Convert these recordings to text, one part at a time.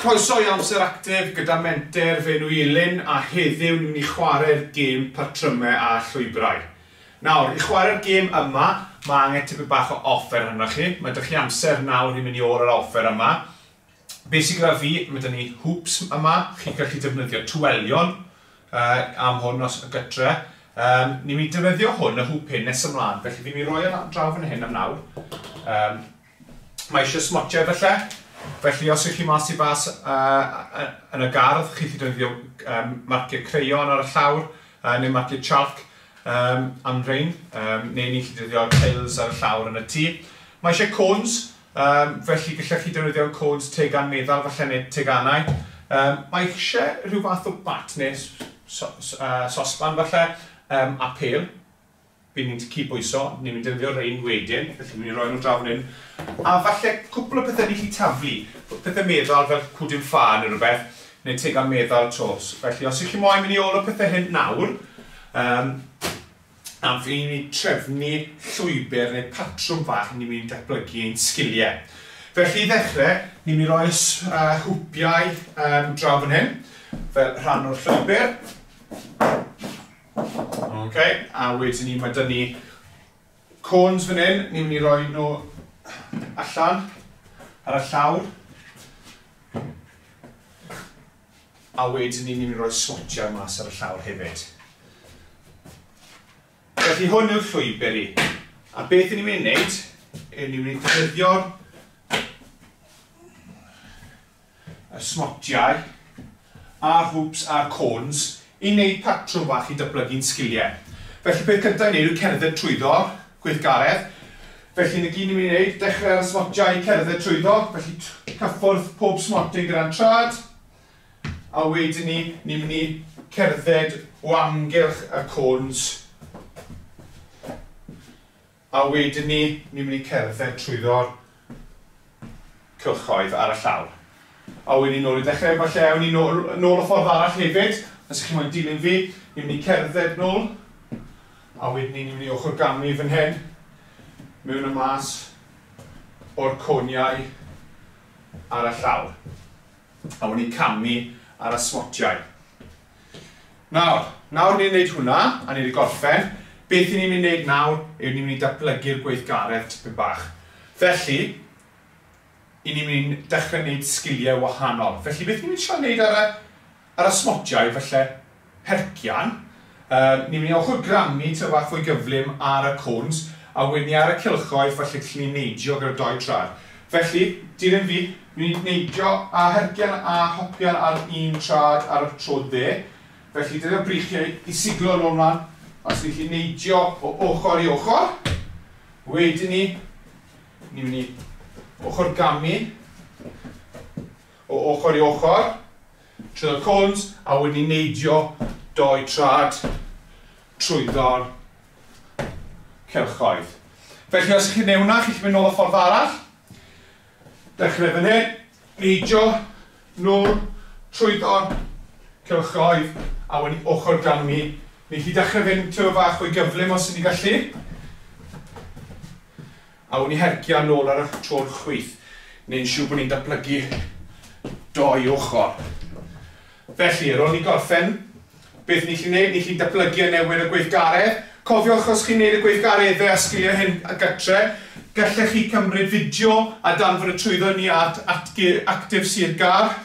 Croeso i Amser Actif gyda Menter, fy enw i Elin a heddiw ni'n mynd i chwarae'r gêm patrymau a llwybrau. Nawr, i chwarae'r gêm yma, mae angen tipyn bach o offer arnoch chi. Mae 'da chi amser nawr i mynd i ôl yr offer yma. Be sydd gyda fi, mae 'da ni hoops yma, chi'n gallu defnyddio twelion am hwn os gytre. Ni'n mynd i defnyddio hwn, y hoop hyn, nes ymlaen, felly fi'n mynd i roi e draw fan hyn am nawr. Mae eisiau smotiau falle, felly os ych chi mas i fas yn y gardd, chi'n gallu defnyddio marciau crayon ar y llawr, neu marciau chalk am rhein, neu ni'n gallu defnyddio tiles ar y llawr yn y tŷ. Mae eisiau cones, felly gallech chi defnyddio cones tegan meddal falle neu teganau. Mae eisiau rhyw fath o bat neu sosban falle, a pêl. Bydd ni'n cydbwyso, ni'n mynd i defnyddio rhein wedyn, felly ni'n mynd i roi nhw draw fan hyn. A falle cwpl o pethau ni'n gallu taflu, pethau meddal fel cwdyn ffa neu rhywbeth, neu tegan meddal 'to. Felly os ych chi moyn mynd i ôl y pethau hyn nawr, a fi'n mynd i trefnu llwybr neu patrwm fach ni'n mynd i datblygu ein sgiliau. Felly i ddechrau, ni'n mynd i roi y hwpiau draw fan hyn, fel rhan o'r llwybr. Ok, a wedyn ni, mae 'da ni cones fan hyn, ni'n mynd i roi nhw allan ar y llawr. A wedyn ni, ni'n mynd i roi smotiau mas ar y llawr hefyd. Felly hwn yw'r llwybr i. A beth ni'n mynd i wneud, yw ni'n mynd i ddefnyddio'r y smotiau, a'r hoops a'r cones i wneud patrwm bach i datblygu'n sgiliau. Felly peth cyntaf i wneud yw cerdded trwyddo'r gweithgaredd. Felly 'na gyd ni'n mynd i wneud, dechrau ar y smotiau i cerdded trwyddo, felly cyffwrdd pob smotyn gyda'n trad, a wedyn ni, ni'n mynd i cerdded o amgylch y cones. A wedyn ni, ni'n mynd i cerdded trwyddo'r cylchoedd ar y llawr. A wedyn ni nôl i dechrau, falle awn ni nôl, nôl y ffordd arall hefyd, os ych chi moyn dilyn fi, ni'n mynd i cerdded nôl, a wedyn ni, ni'n mynd i ochr gamu fan hyn, mewn a mas o'r coniau ar y llawr. A wedyn ni camu ar y smotiau. Nawr, nawr ni'n gwneud hwnna, a ni wedi gorffen, beth i ni'n mynd i wneud nawr yw ni'n mynd i datblygu'r gweithgaredd tipyn bach. Felly, i ni'n mynd i dechrau gwneud sgiliau wahanol. Felly, beth ni'n mynd i trio wneud ar y, ar y smotiau, falle hercian, ni'n mynd i ochr gramu tyfu bach fwy gyflym ar y cones, a wedyn ni ar y cylchoedd, falle gallwn ni neidio gyda doi trad. Felly, dilyn fi, ni'n mynd i neidio a hercian a hopian ar un trad ar y tro dde. Felly, dyna'r breichiau i siglo nôl mlaen, os ni'n gallu neidio o ochr i ochr. Wedyn ni, ni'n mynd i ochr gamu o ochr i ochr, trwy'r cones, a wedyn ni neidio doi trad trwyddo'r cylchoedd. Felly os chi'n neud hwnna, chi'n gallu mynd nôl y ffordd arall. Dechrau fan hyn, neidio, nôl, trwyddo'r cylchoedd, a wedyn ochr gamu. Ni'n gallu dechrau fynd tyfu fach fwy gyflym os ni'n gallu. A wedyn ni hercio nôl ar y tro'r chwith. Neu'n siŵr bod ni'n datblygu doi ochr. Felly, ar ôl ni gorffen, beth ni'n gallu gwneud? Ni'n gallu datblygu a newid y gweithgaredd. Cofiwch os chi'n gwneud y gweithgareddau a sgiliau hyn a gytre, gallech chi cymryd fideo a danfon y trwyddo ni at, at Active Sir Gâr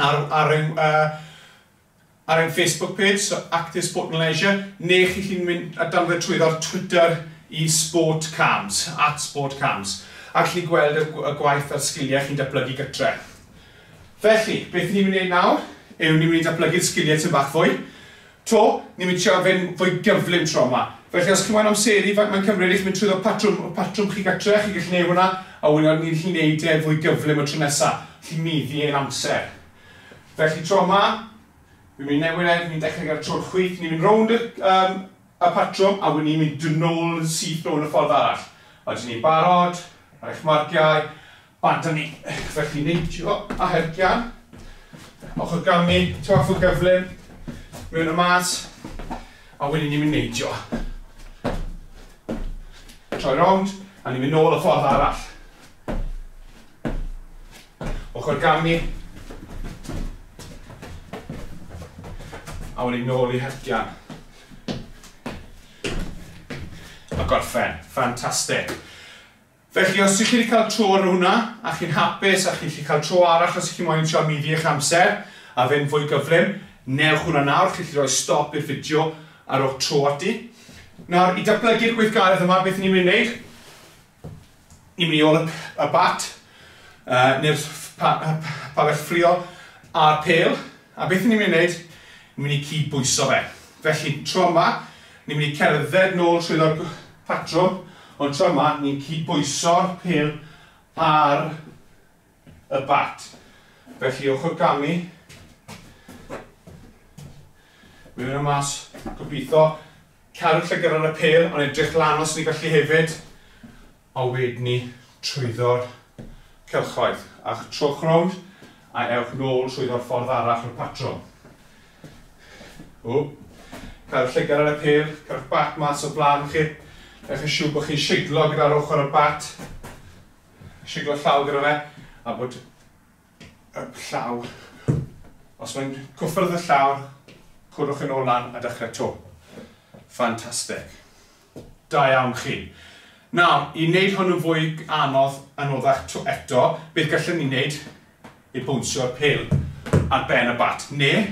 ar ein, ar ein Facebook page, so Active Sport and Leisure, neu chi chi'n mynd a danfon trwyddo ar Twitter i Sport Cams, @SportCams, a chi gweld y gwaith a'r sgiliau chi'n datblygu gytre. Felly, beth ni'n mynd i wneud nawr yw ni'n mynd i datblygu'r sgiliau tipyn bach fwy. To, ni'n mynd i trio fynd fwy gyflym tro yma. Felly, os chi'n moyn amseru faint mae'n cymryd i chi mynd trwyddo patrwm chi gytre, chi'n gallu gwneud hwnna, a wedyn ni'n gallu gwneud e fwy gyflym y tro nesaf. Chi'n meddu ein amser. Felly, tro yma, fi'n mynd i newid e, fi'n mynd i dechrau gyda'r tro'r chwith, ni'n mynd rownd y patrwm, a wedyn ni'n mynd nôl yn syth rownd y ffordd arall. A dyn ni'n barod, ar eich marciau, bant â ni. Felly neidio a hercian, ochr gamu, tyfu gyflym, mewn y mas, a wedyn ni'n mynd neidio. Troi rownd, a ni'n mynd nôl y ffordd arall. Ochr gamu, A wedyn nôl i hercian. A gorffen. Ffantastig. Felly, os ych chi wedi cael tro ar hwnna, a chi'n hapus, a chi'n gallu cael tro arall os ych chi moyn trio maeddu eich amser, a fynd fwy gyflym, newch hwnna nawr, chi'n gallu rhoi stop i'r fideo a rhowch tro ati. Nawr, i datblygu'r gweithgaredd yma, beth ni'n mynd i wneud? Ni'n mynd i ôl y bat, neu'r pabell ffrio a'r pêl, a beth ni'n mynd i wneud? Ni'n mynd i cyd-bwyso fe. Felly, tro yma, ni'n mynd i cerdded nôl trwy'r patrwm, ond tro yma, ni'n cyd-bwyso'r pêl ar y bat. Felly, ochr gamu, mewn a mas, gobeithio, cadw llygad ar y pêl, ond edrych lan os ni gallu hefyd, a wedyn ni trwyddo'r cylchoedd. A trowch rownd, a ewch nôl trwyddo'r ffordd arall o'r patrwm. O, cadw llygad ar y pêl, cadw'ch bat mas o blaen chi. Newch yn siŵr bod chi'n siglo gyda'r ochr y bat, siglo llaw gyda fe, a bod y llaw, os mae'n cwffwrdd y llawr, cwrwch yn ôl lan a dechrau to. Ffantastig. Da iawn chi. Nawr, i wneud hwn yn fwy anodd, anoddach to eto, beth gallwn ni wneud yw bownsio'r pêl ar ben y bat, neu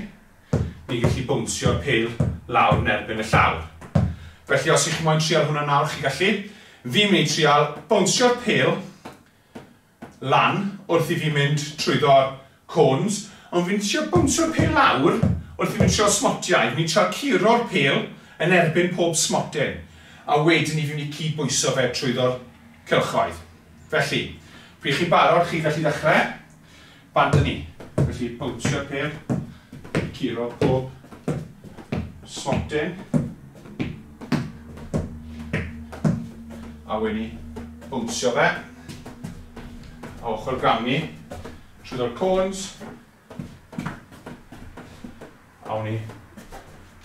ni'n gallu bownsio'r pêl lawr yn erbyn y llawr. Felly, os ych chi moyn trial hwnna nawr, chi gallu. Fi'n mynd i trial bownsio'r pêl lan wrth i fi mynd trwyddo'r cones, ond fi'n trio bownsio'r pêl lawr wrth i fi mynd trwy'r smotiau. Fi'n trio curo'r pêl yn erbyn pob smotyn, a wedyn ni fi'n mynd i cyd-bwyso fe trwyddo'r cylchoedd. Felly, pryd chi'n barod, chi gallu ddechrau, bant â ni. Felly, bownsio'r pêl, curo pob smotyn, a wedyn ni bownsio fe, a ochr gamu trwyddo'r cones, a wedyn ni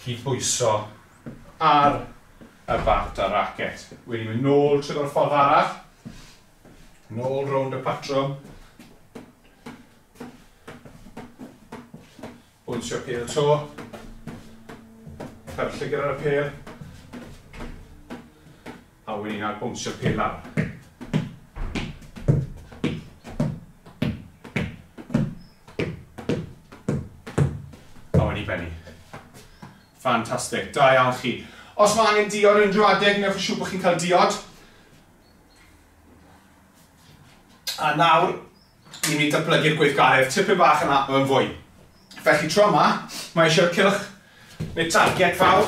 cyd-bwyso ar y bat a'r racket. Wedyn ni'n mynd nôl trwyddo'r ffordd arall, nôl rownd y patrwm, bownsio'r pêl to, cadw llygad ar y pêl, a wedyn ni'n bownsio'r pêl lawr. A wedyn ni bennu. Ffantastig, da iawn chi. Os mae angen diod unrhyw adeg, newch yn siŵr bod chi'n cael diod. A nawr, ni'n mynd i datblygu'r gweithgaredd tipyn bach yn yn fwy. Felly tro yma, mae eisiau'r cylch neu target fawr.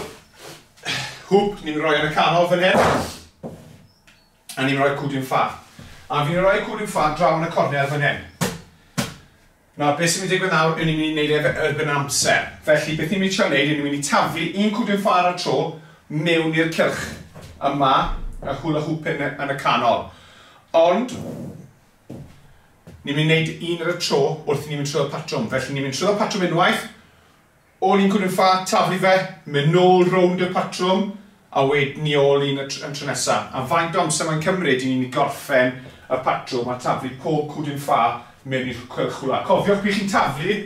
Hwp, ni'n rhoi yn y canol fan hyn. A ni'n rhoi cwdyn ffa. A fi'n rhoi cwdyn ffa draw yn y cornel fan hyn. Nawr, beth sy'n mynd i digwydd nawr yw ni'n mynd i wneud e erbyn amser. Felly, beth ni'n mynd i trio wneud yw ni'n mynd i taflu un cwdyn ffa ar y tro mewn i'r cylch yma, y hula hoop yn y canol. Ond, ni'n mynd i wneud un ar y tro wrth i ni'n mynd trwy'r patrwm. Felly, ni'n mynd trwy'r patrwm unwaith, ôl un cwdyn ffa, taflu fe, mynd nôl rownd y patrwm, a wedyn ni ôl un y tro nesaf. A faint o amser mae'n cymryd i ni'n gorffen y patrwm a taflu pob cwdyn ffa mewn i'r cylch hwla. Cofiwch pryd chi'n taflu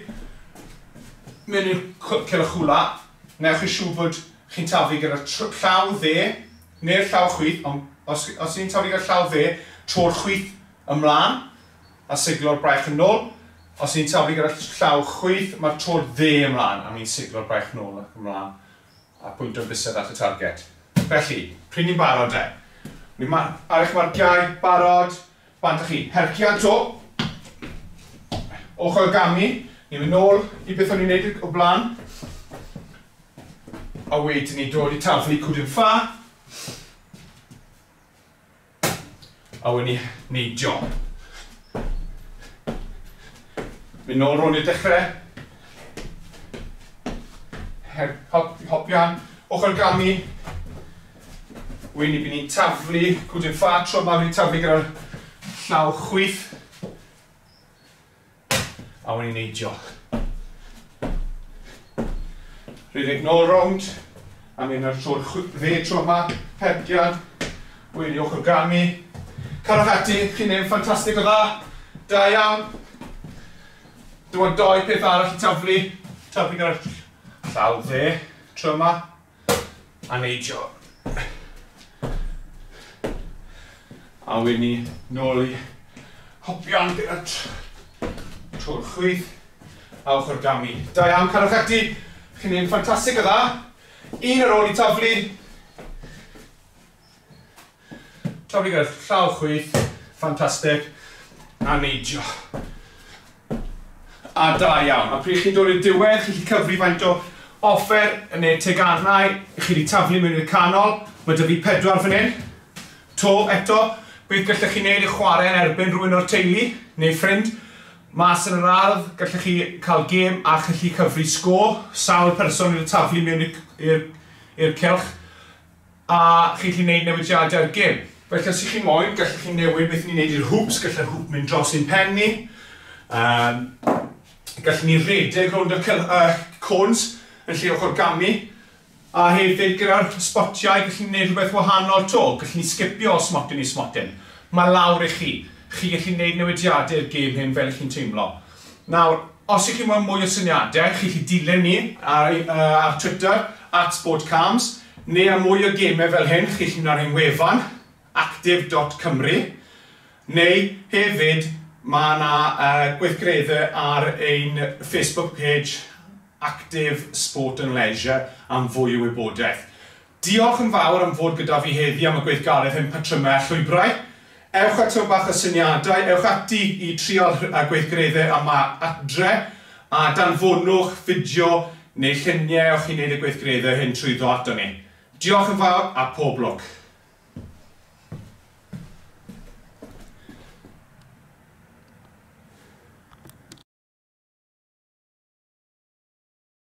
mewn i'r cylch hwla, newch yn siŵr bod chi'n taflu gyda'r llaw dde neu'r llaw chwith, ond os ni'n taflu gyda'r llaw dde, tro'r chwith ymlaen a siglo'r braich yn ôl. Os ni'n taflu gyda'r llaw chwith, mae'r tro'r dde ymlaen a ni'n siglo'r braich nôl ac ymlaen a pwynto'r bysedd at y target. Felly, pryd ni'n barod e? Ni ar eich marciau, barod, bant â chi. Hercian to, ochr gamu, ni'n mynd nôl i beth o'n i'n neud o blaen. A wedyn ni dod i taflu cwdyn ffa. A wedyn ni neidio. Mynd nôl rownd i'r dechrau. Hopian, ochr gamu. Wedyn ni bydd ni'n taflu cwdyn ffa, tro yma fi'n taflu gyda'r llaw chwith. A wedyn ni'n neidio. Rhedeg nôl rownd, a mynd ar tro'r dde tro yma, hercian, wedyn ni ochr gamu. Carwch ati, chi'n neud yn ffantastig o dda. Da iawn. Dim ond doi peth arall i taflu. Taflu gyda'r Llaw dde, tro yma, a neidio. A wedyn ni nôl i hopian gyda tro'r chwith a ochr gamu. Da iawn, cadwch ati. Chi'n neud yn ffantastig o dda. Un ar ôl i taflu. Taflu gyda llaw chwith, ffantastig. A neidio. A da iawn. A pryd chi'n dod i'r diwedd, chi'n gallu cyfri faint o offer neu teganau chi wedi taflu mewn i'r canol. Mae 'da fi 4 fan hyn. To, eto, beth gallech chi wneud i chwarae yn erbyn rhywun o'r teulu neu ffrind. Mas yn yr ardd, gallech chi cael gêm a challu cyfri sgôr. Sawl person wedi taflu mewn i'r cylch. A chi'n gallu gwneud newidiadau ar gêm. Felly os ych chi moyn, gallech chi newid beth ni'n neud i'r hoops. Gallai'r hoop mynd dros ein pen ni. Gallwn ni redeg rownd y cones yn lle ochr gamu. A hefyd gyda'r sbotiau, gallwn ni wneud rhywbeth wahanol to. Gallwn ni sgipio o smotyn i smotyn. Mae lawr i chi. Chi gallu gwneud newidiadau i'r gêm hyn fel chi'n teimlo. Nawr, os ych chi'n moyn mwy o syniadau, chi gallu dilyn ni ar Twitter, @sportcalms, neu am mwy o gemau fel hyn, chi gallu mynd ar ein wefan, actif.cymru, neu hefyd mae yna gweithgareddau ar ein Facebook page Active Sport and Leisure am fwy o wybodaeth. Diolch yn fawr am fod gyda fi heddi am y gweithgaredd hyn patrymau a llwybrau. Ewch at bach o syniadau, ewch ati i trial y gweithgareddau yma adre a danfonwch fideo neu lluniau o'ch chi'n neud y gweithgareddau hyn trwyddo ato ni. Diolch yn fawr a pob lwc.